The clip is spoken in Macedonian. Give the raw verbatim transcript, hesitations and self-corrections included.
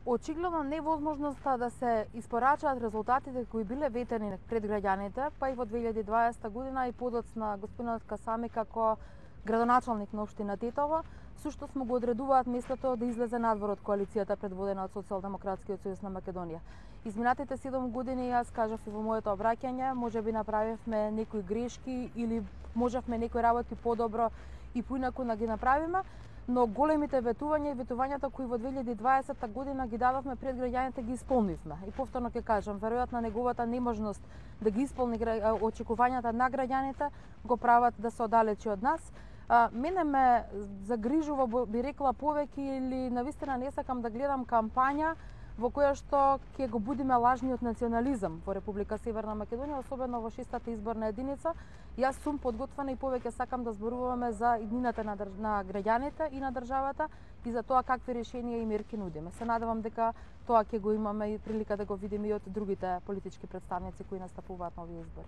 Очигледно невозможноста да се испорачаат резултатите кои биле ветени пред граѓаните, па и во две илјади и дваесета година и подоцна господинот Касами како градоначалник на општина Тетово, сушто му го одредуваат местото да излезе надвор од коалицијата предводена од Социјалдемократскиот сојуз на Македонија. Изминатите седум години, јас кажав и во моето обраќање, можеби направивме некои грешки или можевме некои работи подобро и поинаку да ги направиме, но големите ветувања и ветувањата кои во две илјади и дваесета година ги дадовме пред граѓаните ги исполнивме. И повторно ќе кажам, веројатно неговата неможност да ги исполни очекувањата на граѓаните го прават да се оддалечи од нас. А, мене ме загрижува, би рекла, повеќе или навистина не сакам да гледам кампања во која што ќе го будиме лажниот национализам во Република Северна Македонија, особено во шестата изборна единица. Јас сум подготвена и повеќе сакам да зборуваме за иднината на, држ... на граѓаните и на државата и за тоа какви решенија и мерки нудиме. Се надевам дека тоа ќе го имаме и прилика да го видиме и од другите политички представници кои настапуваат на овие избори.